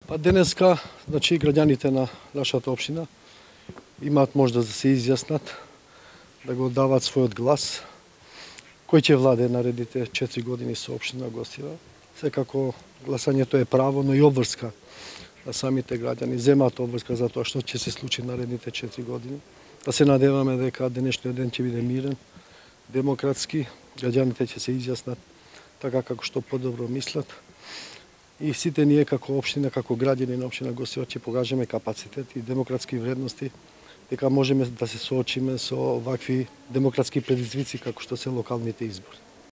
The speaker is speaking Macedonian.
Денеска, значи, граѓаните на нашата општина имаат можност да се изјаснат, да го дават својот глас, кој ќе владе наредните 4 години со општина Гостива. Секако гласањето е право, но и обврска на самите граѓани. Земаат обврска за тоа што ќе се случи наредните 4 години. Да се надеваме дека денешниот ден ќе биде мирен, демократски, граѓаните ќе се изјаснат така како што подобро мислат. И сите ние како општина, како граѓани на општина Гостива ќе покажеме капацитет и демократски вредности, дека можеме да се соочиме со вакви демократски предизвици како што се локалните избори.